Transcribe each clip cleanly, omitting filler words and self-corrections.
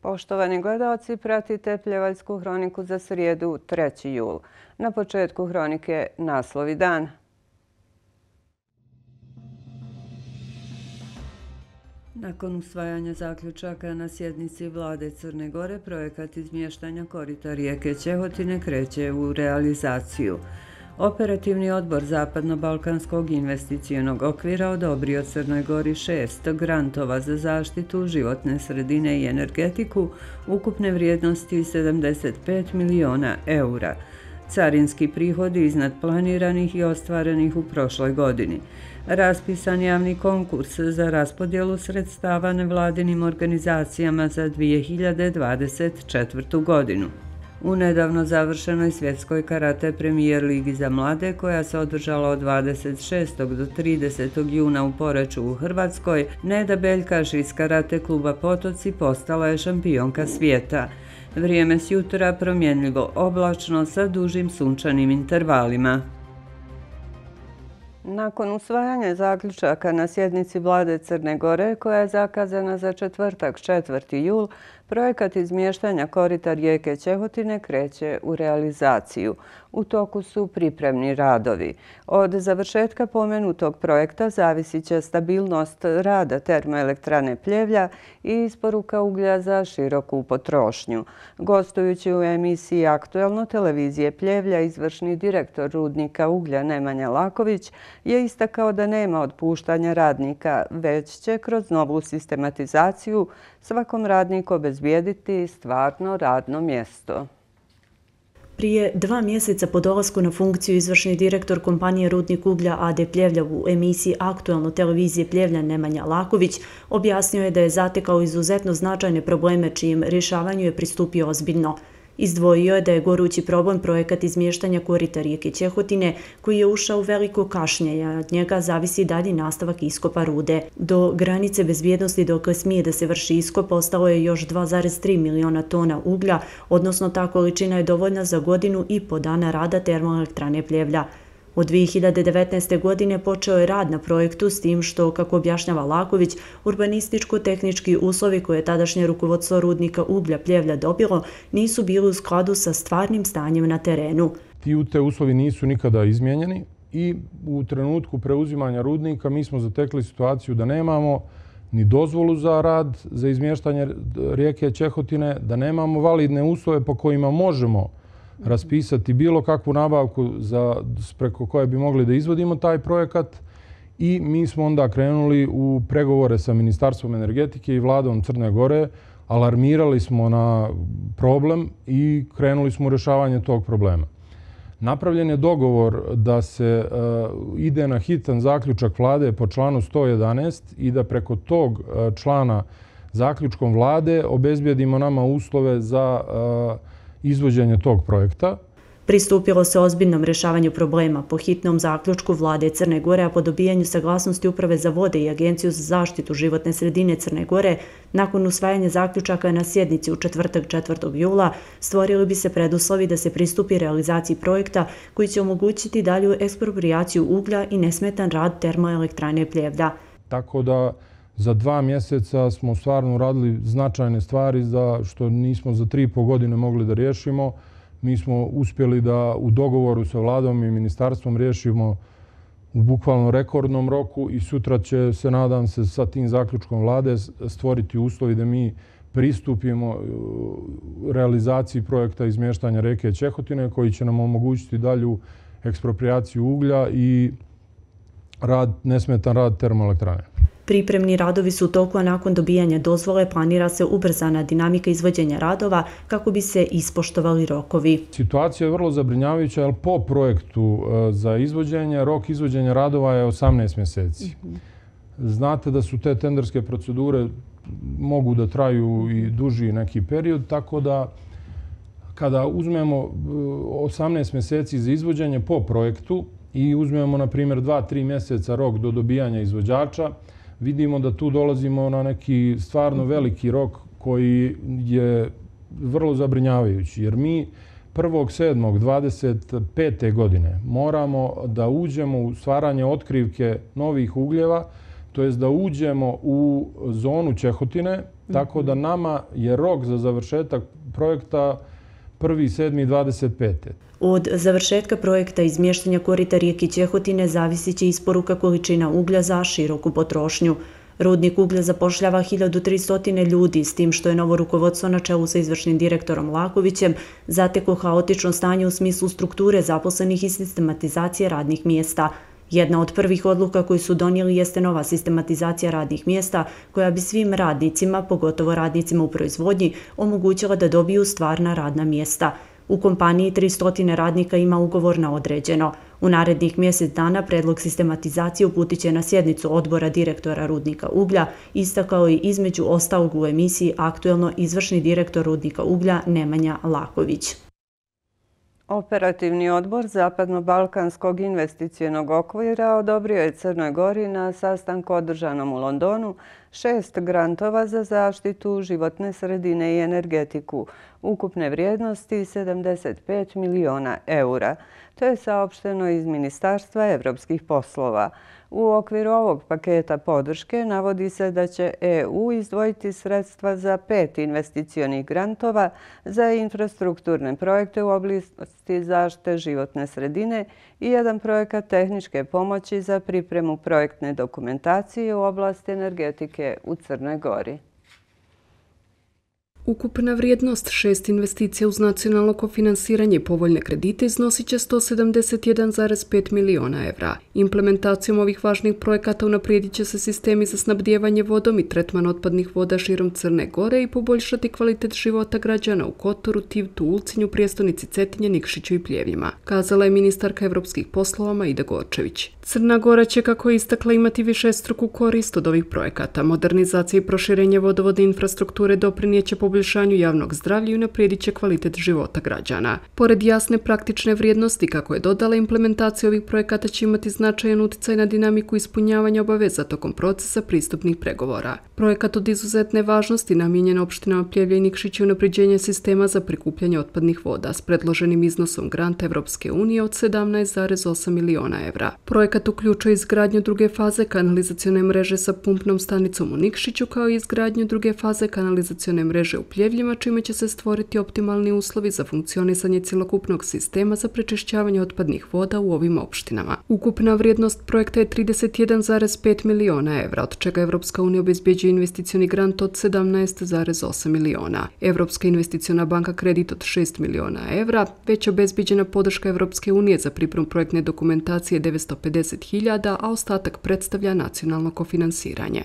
Poštovani gledalci, pratite Pljevaljsku hroniku za srijedu 3. jul. Na početku hronike naslovi dana. Nakon usvajanja zaključaka na sjednici vlade Crne Gore, projekat izmještanja korita rijeke Ćehotine kreće u realizaciju. Operativni odbor Zapadno-Balkanskog investicionog okvira odobrio Crnoj Gori 6 grantova za zaštitu životne sredine i energetiku ukupne vrijednosti 75 miliona eura. Carinski prihodi iznad planiranih i ostvarenih u prošloj godini. Raspisan javni konkurs za raspodjelu sredstava nevladinim organizacijama za 2024. godinu. U nedavno završenoj svjetskoj karate premijer ligi za mlade, koja se održala od 26. do 30. juna u Poreču u Hrvatskoj, Neda Beljkaš iz karate kluba Potoci postala je šampionka svijeta. Vrijeme s jutra promjenljivo oblačno sa dužim sunčanim intervalima. Nakon usvajanja zaključaka na sjednici vlade Crne Gore, koja je zakazana za četvrtak 4. jul, projekat izmještanja korita rijeke Ćehotine kreće u realizaciju. U toku su pripremni radovi. Od završetka pomenutog projekta zavisit će stabilnost rada termoelektrane Pljevlja i isporuka uglja za široku potrošnju. Gostujući u emisiji Aktuelno televizije Pljevlja, izvršni direktor rudnika uglja Nemanja Laković je istakao da nema otpuštanja radnika, već će kroz novu sistematizaciju svakom radniku obezbijediti stvarno radno mjesto. Prije 2 mjeseca po dolasku na funkciju izvršni direktor kompanije Rudnik uglja AD Pljevlja u emisiji Aktuelno televizije Pljevlja Nemanja Laković objasnio je da je zatekao izuzetno značajne probleme čijem rješavanju je pristupio ozbiljno. Izdvojio je da je gorući problem projekat izmještanja korita rijeke Ćehotine, koji je ušao u veliko kašnjenje, a od njega zavisi dalji nastavak iskopa rude. Do granice bezbjednosti dokle smije da se vrši iskop ostalo je još 2,3 miliona tona uglja, odnosno ta količina je dovoljna za godinu i po dana rada termoelektrane Pljevlja. Od 2019. godine počeo je rad na projektu s tim što, kako objašnjava Laković, urbanističko-tehnički uslovi koje je tadašnje rukovodstvo rudnika uglja Pljevlja dobilo nisu bili u skladu sa stvarnim stanjem na terenu. Ti uslovi nisu nikada izmijenjeni i u trenutku preuzimanja rudnika mi smo zatekli situaciju da nemamo ni dozvolu za rad za izmještanje rijeke Ćehotine, da nemamo validne uslove po kojima možemo raspisati bilo kakvu nabavku preko koje bi mogli da izvodimo taj projekat i mi smo onda krenuli u pregovore sa Ministarstvom energetike i vladom Crne Gore, alarmirali smo na problem i krenuli smo u rješavanje tog problema. Napravljen je dogovor da se ide na hitan zaključak vlade po članu 111 i da preko tog člana zaključkom vlade obezbijedimo nama uslove za izvođenje tog projekta. Pristupilo se ozbiljnom rješavanju problema po hitnom zaključku vlade Crne Gore, a po dobijanju saglasnosti Uprave za vode i Agenciju za zaštitu životne sredine Crne Gore, nakon usvajanja zaključaka na sjednici u četvrtak 4. jula, stvorili bi se preduslovi da se pristupi realizaciji projekta koji će omogućiti dalju eksproprijaciju uglja i nesmetan rad termoelektrane Pljevlja. Tako da za 2 mjeseca smo stvarno uradili značajne stvari što nismo za 3,5 godine mogli da riješimo. Mi smo uspjeli da u dogovoru sa vladom i ministarstvom riješimo u bukvalno rekordnom roku i sutra će se, nadam se, sa tim zaključkom vlade stvoriti uslovi da mi pristupimo realizaciji projekta izmještanja rijeke Ćehotine koji će nam omogućiti dalju eksproprijaciju uglja i nesmetan rad termoelektrane. Pripremni radovi su u toku, a nakon dobijanja dozvole planira se ubrzana dinamika izvođenja radova kako bi se ispoštovali rokovi. Situacija je vrlo zabrinjavajuća, jer po projektu za izvođenje, rok izvođenja radova je 18 mjeseci. Znate da su te tenderske procedure mogu da traju i duži neki period, tako da kada uzmemo 18 mjeseci za izvođenje po projektu i uzmemo, na primjer, 2-3 mjeseca rok do dobijanja izvođača, vidimo da tu dolazimo na neki stvarno veliki rok koji je vrlo zabrinjavajući. Jer mi 1.7.25. godine moramo da uđemo u stvaranje otkrivke novih ugljeva. to jest da uđemo u zonu Čehotine, tako da nama je rok za završetak projekta 1.7.25. Od završetka projekta izmještanja korita rijeke Čehotine zavisit će isporuka količina uglja za široku potrošnju. Rudnik uglja zapošljava 1300 ljudi, s tim što je novo rukovodstvo na čelu sa izvršnim direktorom Lakovićem zateklo haotično stanje u smislu strukture zaposlenih i sistematizacije radnih mjesta. Jedna od prvih odluka koju su donijeli jeste nova sistematizacija radnih mjesta koja bi svim radnicima, pogotovo radnicima u proizvodnji, omogućila da dobiju stvarna radna mjesta. U kompaniji 300 radnika ima ugovor na određeno. U narednih mjesec dana predlog sistematizacije uputit će na sjednicu odbora direktora Rudnika uglja, istakao je između ostalog u emisiji aktuelno izvršni direktor Rudnika uglja Nemanja Laković. Operativni odbor Zapadno-Balkanskog investicionog okvira odobrio je Crnoj Gori na sastanku održanom u Londonu 6 grantova za zaštitu životne sredine i energetiku, ukupne vrijednosti 75 miliona eura. To je saopšteno iz Ministarstva evropskih poslova. U okviru ovog paketa podrške navodi se da će EU izdvojiti sredstva za 5 investicionih grantova za infrastrukturne projekte u oblasti zaštite životne sredine i jedan projekat tehničke pomoći za pripremu projektne dokumentacije u oblasti energetike u Crnoj Gori. Ukupna vrijednost 6 investicija uz nacionalno kofinansiranje i povoljne kredite iznosit će 171,5 miliona evra. Implementacijom ovih važnih projekata unaprijedit će se sistemi za snabdijevanje vodom i tretman otpadnih voda širom Crne Gore i poboljšati kvalitet života građana u Kotoru, Tivtu, Ulcinju, prijestolnici Cetinje, Nikšiću i Pljevljima, kazala je ministarka evropskih poslova Maida Gorčević. Crna Gora će, kako je istakla, imati višestruku korist od ovih projekata. Modernizacija i proširenje vodovodne infrastrukture doprinijeće poboljšanju javnog zdravlja i unaprijedit će kvalitet života građana. Pored jasne praktične vrijednosti, kako je dodala, implementacija ovih projekata će imati značajan utjecaj na dinamiku ispunjavanja obaveza tokom procesa pristupnih pregovora. Projekat od izuzetne važnosti namijenjen opštinama Pljevlja i Nikšić je unapređenje sistema za prikupljanje otpadnih voda s predloženim iznosom granta Evropske unije od 17,8 miliona evra. Projekat uključuje izgradnju druge faze kanalizacione mreže sa pumpnom stanicom u Nikšiću, kao i izgradnju druge faze kanalizacione mreže u Pljevljima, čime će se stvoriti optimalni uslovi za funkcionisanje cjelokupnog sistema za prečišćavanje otpadnih voda u ovim opštinama. Ukupna vrijednost projekta je 31,5 miliona evra, od čega Evropska unija obezbjeđuje investicioni grant od 17,8 miliona. Evropska investiciona banka kredit od 6 miliona evra, već obezbjeđena podrška Evropske unije za pripremu projektne dokumentacije 950.000, a ostatak predstavlja nacionalno kofinansiranje.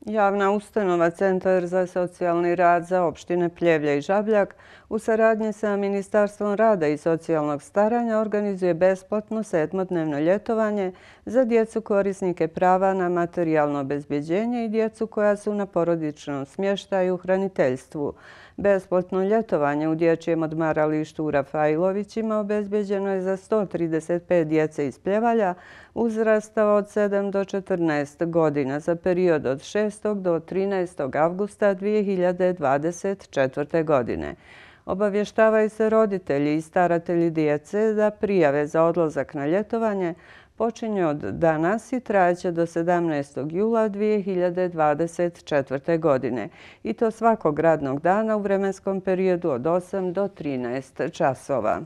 Javna ustanova Centar za socijalni rad za opštine Pljevlja i Žabljak u saradnji sa Ministarstvom rada i socijalnog staranja organizuje besplatno 7-dnevno ljetovanje za djecu korisnike prava na materijalno obezbjeđenje i djecu koja su na porodičnom smještaju u hraniteljstvu. Besplatno ljetovanje u dječjem odmaralištu u Rafailovićima obezbjeđeno je za 135 djece iz Pljevalja uzrasta od 7 do 14 godina za period od 6. do 13. avgusta 2024. godine. Obavještavaju se roditelji i staratelji djece da prijave za odlazak na ljetovanje počinje od danas i trajeće do 17. jula 2024. godine i to svakog radnog dana u vremenskom periodu od 8 do 13 časova.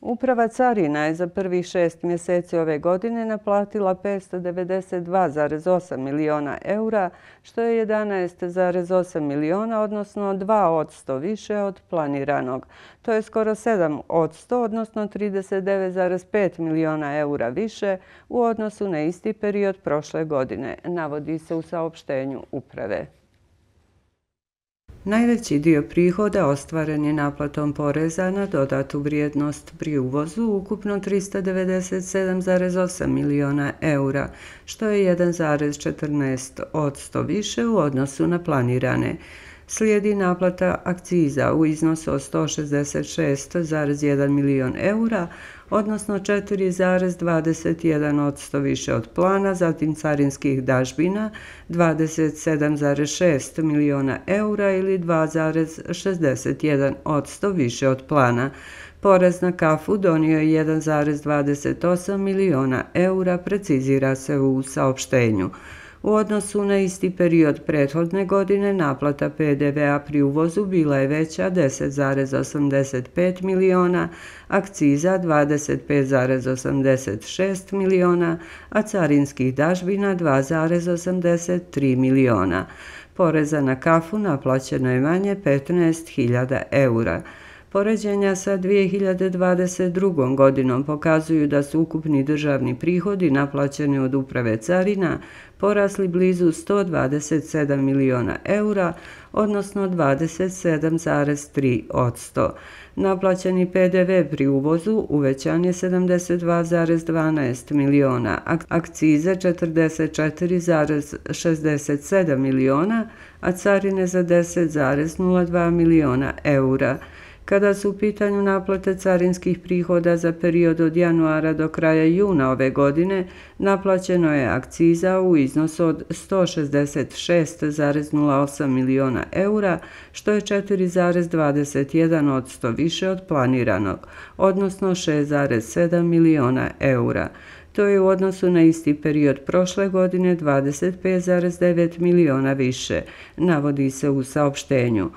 Uprava carina je za prvih 6 mjeseci ove godine naplatila 592,8 miliona eura, što je 11,8 miliona, odnosno 2% više od planiranog. To je skoro 7%, odnosno 39,5 miliona eura više u odnosu na isti period prošle godine, navodi se u saopštenju uprave. Najveći dio prihoda ostvaren je naplatom poreza na dodatu vrijednost pri uvozu, ukupno 397,8 miliona eura, što je 1,14% više u odnosu na planirane. Slijedi naplata akciza u iznosu od 166,1 milion eura, odnosno 4,21% više od plana, zatim carinskih dažbina 27,6 miliona eura ili 2,61% više od plana. Porez na kafu donio je 1,28 miliona eura, precizira se u saopštenju. U odnosu na isti period prethodne godine naplata PDV-a pri uvozu bila je veća 10,85 miliona, akciza 25,86 miliona, a carinskih dažbina 2,83 miliona. Poreza na kafu naplaćeno je manje 15.000 eura. Poređenja sa 2022. godinom pokazuju da su ukupni državni prihodi naplaćeni od Uprave carina porasli blizu 127 miliona eura, odnosno 27,3%. Naplaćeni PDV pri uvozu uvećan je 72,12 miliona, akcize 44,67 miliona, a carine za 10,02 miliona eura. Kada su u pitanju naplate carinskih prihoda za period od januara do kraja juna ove godine, naplaćeno je akciza u iznosu od 166,08 miliona eura, što je 4,21% više od planiranog, odnosno 6,7 miliona eura. To je u odnosu na isti period prošle godine 25,9 miliona više, navodi se u saopštenju.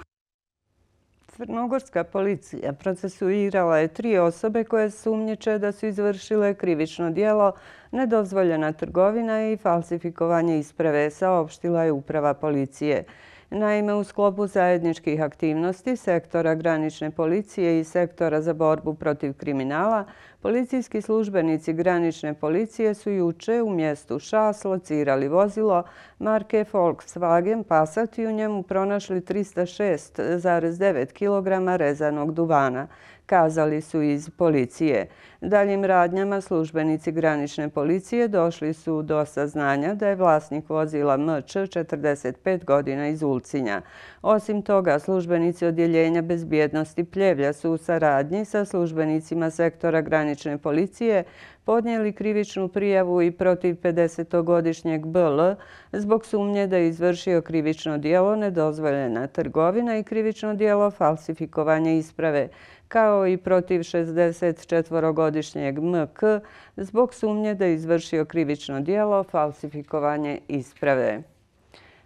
Crnogorska policija procesuirala je 3 osobe koje sumnjiče da su izvršile krivično djelo nedozvoljena trgovina i falsifikovanje isprave, saopštila je uprava policije. Naime, u sklopu zajedničkih aktivnosti sektora granične policije i sektora za borbu protiv kriminala, policijski službenici granične policije su juče u mjestu Šas locirali vozilo marke Volkswagen Passat i u njemu pronašli 306,9 kg rezanog duvana, kazali su iz policije. Daljim radnjama službenici granične policije došli su do saznanja da je vlasnik vozila MČ 45 godina iz Ulcinja. Osim toga, službenici odjeljenja bezbjednosti Pljevlja su u saradnji sa službenicima sektora granične policije podnijeli krivičnu prijavu i protiv 50-godišnjeg BL zbog sumnje da je izvršio krivično djelo nedozvoljena trgovina i krivično djelo falsifikovanje isprave, kao i protiv 64-godišnjeg MK zbog sumnje da je izvršio krivično djelo falsifikovanje isprave.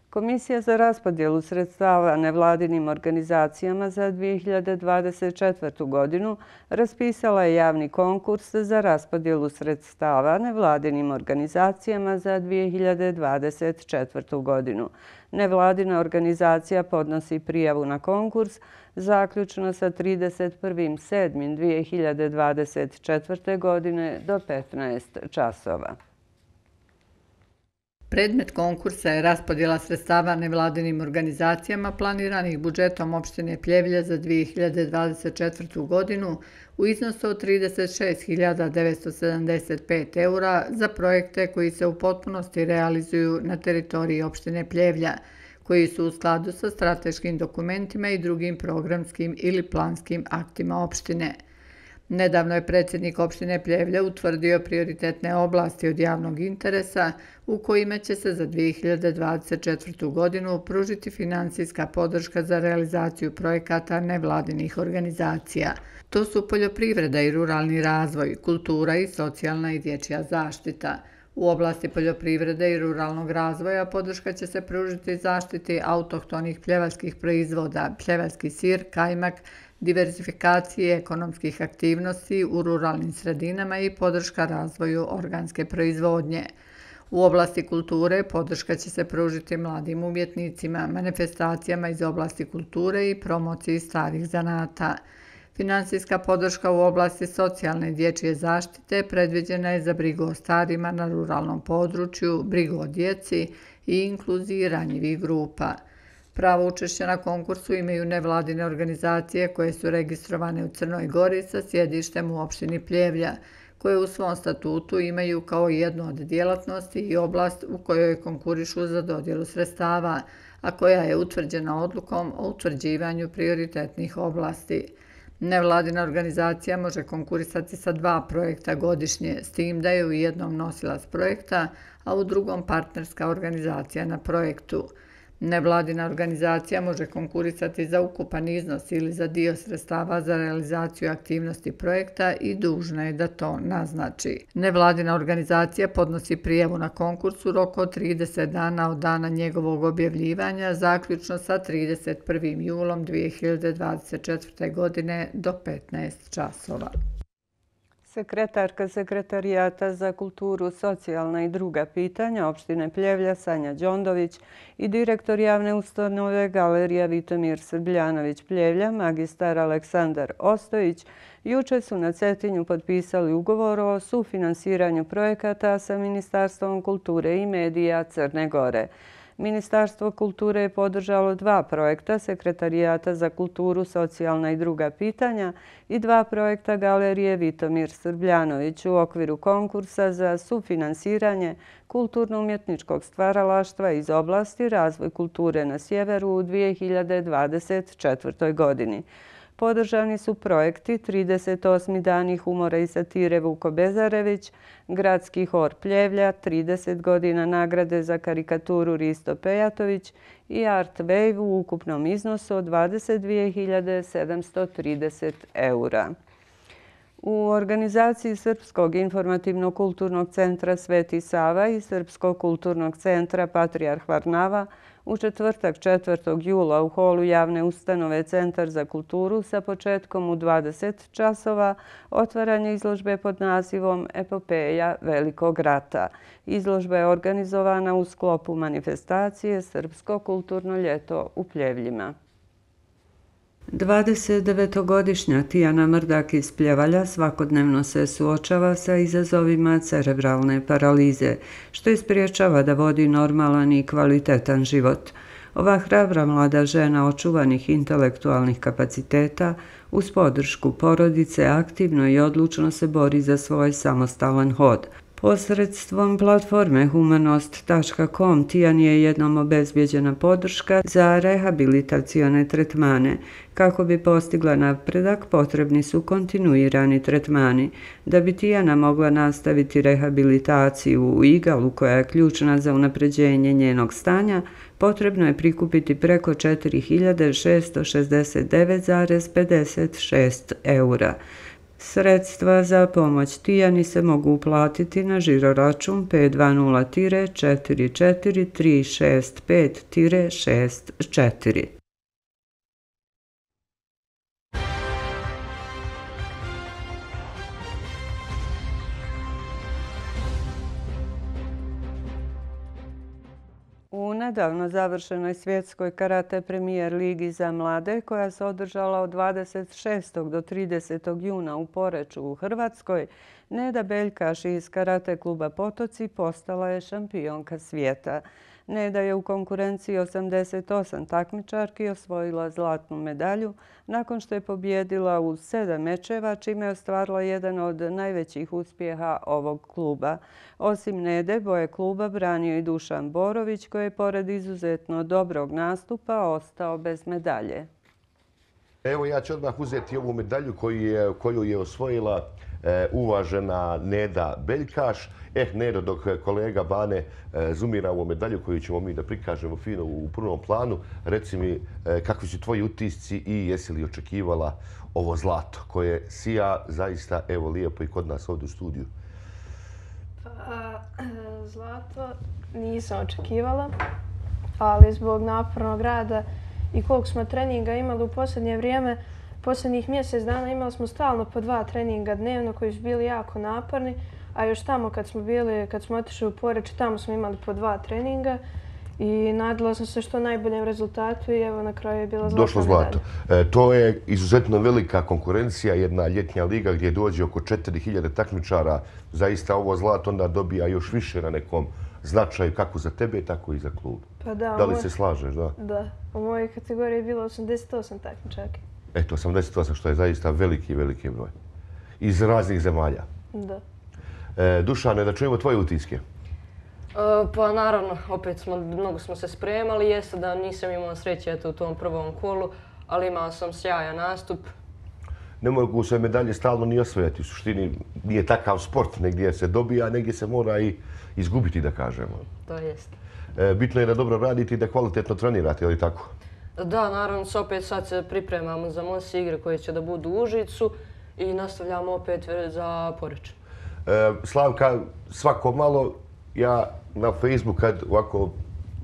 Komisija za raspodjelu sredstava nevladinim organizacijama za 2024. godinu raspisala je javni konkurs za raspodjelu sredstava nevladinim organizacijama za 2024. godinu. Nevladina organizacija podnosi prijavu na konkurs zaključno sa 31.7.2024. godine do 15 časova. Predmet konkursa je raspodjela sredstava nevladinim organizacijama planiranih budžetom opštine Pljevlje za 2024. godinu u iznosu od 36.975 eura za projekte koji se u potpunosti realizuju na teritoriji opštine Pljevlja, koji su u skladu sa strateškim dokumentima i drugim programskim ili planskim aktima opštine. Nedavno je predsjednik opštine Pljevlja utvrdio prioritetne oblasti od javnog interesa u kojima će se za 2024. godinu pružiti finansijska podrška za realizaciju projekata nevladinih organizacija. To su poljoprivreda i ruralni razvoj, kultura i socijalna i dječja zaštita. U oblasti poljoprivrede i ruralnog razvoja podrška će se pružiti zaštiti autohtonih pljevačkih proizvoda, pljevački sir, kajmak, diversifikacije ekonomskih aktivnosti u ruralnim sredinama i podrška razvoju organske proizvodnje. U oblasti kulture podrška će se pružiti mladim umjetnicima, manifestacijama iz oblasti kulture i promociji starih zanata. Finansijska podrška u oblasti socijalne i dječje zaštite predviđena je za brigu o starima na ruralnom području, brigu o djeci i inkluziji ranjivih grupa. Pravo učešća na konkursu imaju nevladine organizacije koje su registrovane u Crnoj Gori sa sjedištem u opštini Pljevlja, koje u svom statutu imaju kao jednu od djelatnosti i oblast u kojoj konkurišu za dodjelu sredstava, a koja je utvrđena odlukom o utvrđivanju prioritetnih oblasti. Nevladina organizacija može konkurisati sa 2 projekta godišnje, s tim da je u jednom nosilac projekta, a u drugom partnerska organizacija na projektu. Nevladina organizacija može konkurisati za ukupan iznos ili za dio sredstava za realizaciju aktivnosti projekta i dužna je da to naznači. Nevladina organizacija podnosi prijavu na konkurs u roku od 30 dana od dana njegovog objavljivanja, zaključno sa 31. julom 2024. godine do 15 časova. Sekretarka Sekretarijata za kulturu, socijalna i druga pitanja opštine Pljevlja Sanja Đondović i direktor javne ustanove Galerija Vitomir Srbljanović Pljevlja, magistar Aleksandar Ostojić, juče su na Cetinju potpisali ugovor o sufinansiranju projekata sa Ministarstvom kulture i medija Crne Gore. Ministarstvo kulture je podržalo 2 projekta Sekretarijata za kulturu, socijalna i druga pitanja i 2 projekta Galerije Vitomir Srbljanović u okviru konkursa za sufinansiranje kulturno-umjetničkog stvaralaštva iz oblasti razvoj kulture na sjeveru u 2024. godini. Podržani su projekti 38 dani humora i satire Vuko Bezarević, Gradski hor Pljevlja, 30 godina nagrade za karikaturu Risto Pejatović i Art Wave u ukupnom iznosu od 22.730 eura. U organizaciji Srpskog informativno-kulturnog centra Sveti Sava i Srpskog kulturnog centra Patrijarh Varnava u četvrtak 4. jula u holu javne ustanove Centar za kulturu sa početkom u 20 časova otvaranje izložbe pod nazivom Epopeja Velikog rata. Izložba je organizovana u sklopu manifestacije Srpsko kulturno ljeto u Pljevljima. 29-godišnja Tijana Mrdak iz Pljevalja svakodnevno se suočava sa izazovima cerebralne paralize, što je spriječava da vodi normalan i kvalitetan život. Ova hrabra mlada žena očuvanih intelektualnih kapaciteta uz podršku porodice aktivno i odlučno se bori za svoj samostalan hod. Posredstvom platforme humanost.com Tijani je jednom obezbjeđena podrška za rehabilitacione tretmane. Kako bi postigla napredak, potrebni su kontinuirani tretmani. Da bi Tijana mogla nastaviti rehabilitaciju u Igalu, koja je ključna za unapređenje njenog stanja, potrebno je prikupiti preko 4.669,56 eura. Sredstva za pomoć Tijani se mogu uplatiti na žiroračun 520-44365-64. U nedavno završenoj svjetskoj karate premijer ligi za mlade, koja se održala od 26. do 30. juna u Poreču u Hrvatskoj, Neda Beljkaš iz karate kluba Potoci postala je šampionka svijeta. Neda je u konkurenciji 88 takmičarki osvojila zlatnu medalju nakon što je pobjedila u 7 mečeva, čime je ostvarila jedan od najvećih uspjeha ovog kluba. Osim Nede, boje kluba branio i Dušan Borović, koji je pored izuzetno dobrog nastupa ostao bez medalje. Evo, ja ću odmah uzeti ovu medalju koju je osvojila uvažena Neda Beljkaš. Nedo, dok kolega Bane zoomira ovu medalju koju ćemo mi da prikažemo fino u prvom planu, reci mi kakvi su tvoji utisci i jesi li očekivala ovo zlato koje sija zaista evo lijepo i kod nas ovdje u studiju? Zlato nisam očekivala, ali zbog napornog rada i koliko smo treninga imali u posljednje vrijeme, posljednjih mjesec dana imali smo stalno po 2 treninga dnevno koji su bili jako naporni, a još tamo kad smo otišli u Poreč, tamo smo imali po 2 treninga i nadala sam se što najboljem rezultatu i evo na kraju je bila zlatna došlo zlato. To je izuzetno velika konkurencija, jedna ljetnja liga gdje dođe oko 4000 takmičara. Zaista ovo zlato onda dobija još više na nekom značaju kako za tebe, tako i za klub. Pa da li se slažeš, da? Da. U mojoj kategoriji je bilo 88 takmičarki. Eto, 88, što je zaista veliki broj. Iz raznih zemalja. Da. Dušane, da čujemo tvoje utiske. Pa naravno, opet mnogo smo se spremali. Jeste da nisam imao sreće u tom prvom kolu, ali imao sam sjajan nastup. Ne mogu se medalje stalno ni osvojati. U suštini nije takav sport. Negdje se dobija, negdje se mora i izgubiti, da kažemo. To jeste. Bitno je da dobro radite i da kvalitetno trenirate, je li tako? Da, naravno, opet sad se pripremamo za MOS igre koje će da budu u Užicu i nastavljamo opet za Poreč. Slavka, svako malo ja na Facebook kad ovako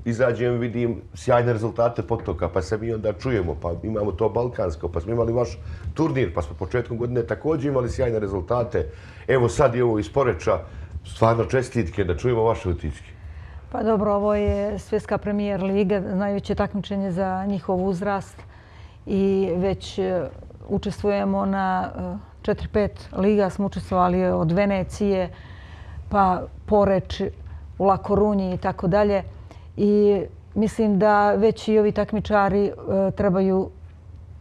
izađem vidim sjajne rezultate potoka, pa se mi onda čujemo, pa imamo to balkansko, pa smo imali vaš turnir, pa smo početkom godine također imali sjajne rezultate. Evo sad je ovo iz Poreča, stvarno čestitke, da čujemo vaše utiske. Pa dobro, ovo je svjetska premijer liga, najveće takmičenje za njihov uzrast i već učestvujemo na 4-5 liga, smo učestvovali od Venecije, pa Poreč, u La Corunji i tako dalje. I mislim da već i ovi takmičari trebaju,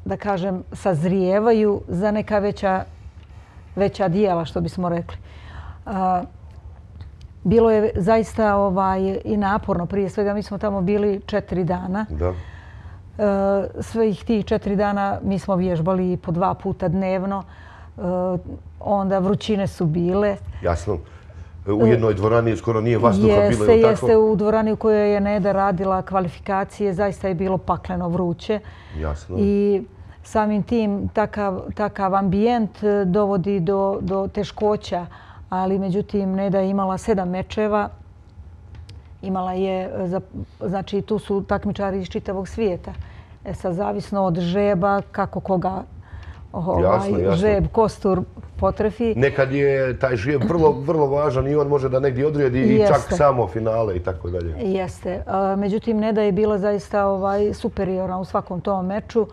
da kažem, sazrijevaju za neka veća dijela, što bismo rekli. Bilo je zaista i naporno. Prije svega mi smo tamo bili 4 dana. Da. Svih tih 4 dana mi smo vježbali po 2 puta dnevno. Onda vrućine su bile. Jasno. U jednoj dvorani skoro nije vazduha bilo, je li tako? Jeste, u dvorani u kojoj je Neda radila kvalifikacije zaista je bilo pakleno vruće. Jasno. I samim tim takav ambijent dovodi do teškoća, ali međutim Neda je imala 7 mečeva. Imala je, znači tu su takmičari iz čitavog svijeta. Sad zavisno od žeba, kako koga žeb, kostur potrefi. Nekad je taj žijeb vrlo važan i on može da negdje odredi i čak samo finale i tako dalje. Jeste. Međutim, Neda je bila zaista superiorna u svakom tom meču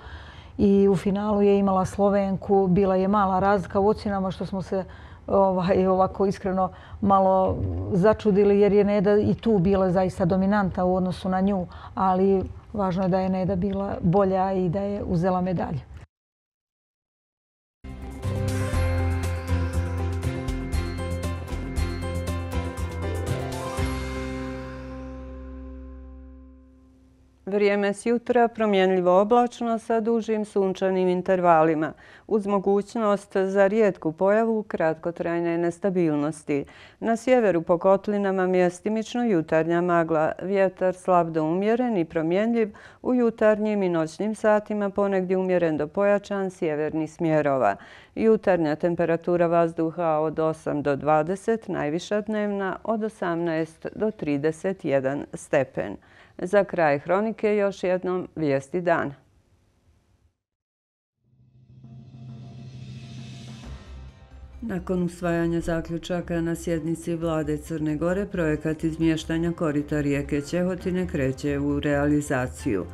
i u finalu je imala Slovenku. Bila je mala razlika u ocjenama što smo se ovako iskreno malo začudili jer je Neda i tu bila zaista dominanta u odnosu na nju, ali važno je da je Neda bila bolja i da je uzela medalju. Vrijeme s jutra promjenljivo oblačno sa dužim sunčanim intervalima, uz mogućnost za rijetku pojavu kratkotrajne nestabilnosti. Na sjeveru po kotlinama mjestimično jutarnja magla, vjetar slab do umjeren i promjenljiv, u jutarnjim i noćnim satima ponegdje umjeren do pojačan sjevernih smjerova. Jutarnja temperatura vazduha od 8 do 20, najviša dnevna od 18 do 31 stepen. Za kraj hronike još jednom vijesti dana. Nakon usvajanja zaključaka na sjednici vlade Crne Gore, projekat izmještanja korita rijeke Ćehotine kreće u realizaciju.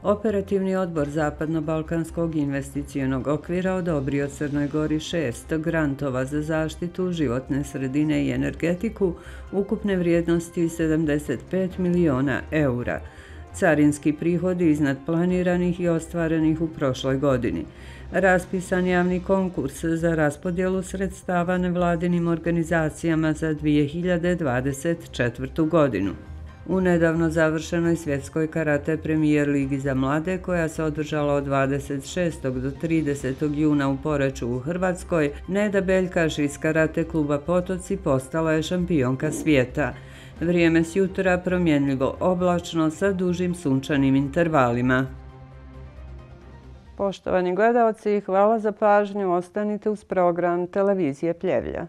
Operativni odbor Zapadno-Balkanskog investicionog okvira odobrio Crnoj Gori 6 grantova za zaštitu životne sredine i energetiku ukupne vrijednosti 75 miliona eura. Carinski prihodi iznad planiranih i ostvarenih u prošloj godini. Raspisan javni konkurs za raspodjelu sredstava nevladinim organizacijama za 2024. godinu. U nedavno završenoj svjetskoj karate premijer ligi za mlade, koja se održala od 26. do 30. juna u Poreču u Hrvatskoj, Neda Beljkaš iz karate kluba Potoci postala je šampionka svijeta. Vrijeme s jutra promjenljivo oblačno sa dužim sunčanim intervalima. Poštovani gledaoci, hvala za pažnju. Ostanite uz program Televizije Pljevlja.